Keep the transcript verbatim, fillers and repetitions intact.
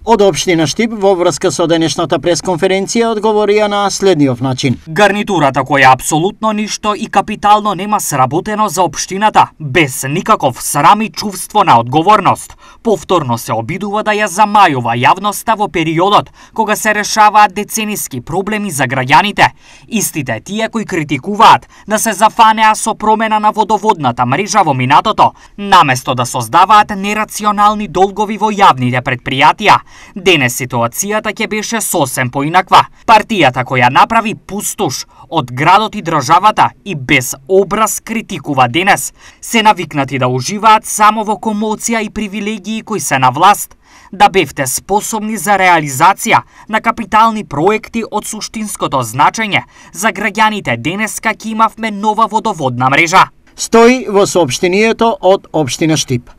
Од општина Штип во врска со денешната пресконференција одговорија на следниот начин. Гарнитурата која апсолутно ништо и капитално нема сработено за општината, без никаков срам и чувство на одговорност, повторно се обидува да ја замајува јавноста во периодот кога се решаваат децениски проблеми за граѓаните. Истите тие кои критикуваат да се зафанеа со промена на водоводната мрежа во минатото, наместо да создаваат нерационални долгови во јавните предпријатија. Денес ситуацијата ќе беше сосем поинаква. Партијата која направи пустош од градот и државата и без образ критикува денес, се навикнати да уживаат само во комоција и привилегии кои се на власт, да бевте способни за реализација на капитални проекти од суштинското значење за граѓаните денеска ќе имавме нова водоводна мрежа. Стои во соопштението од општина Штип.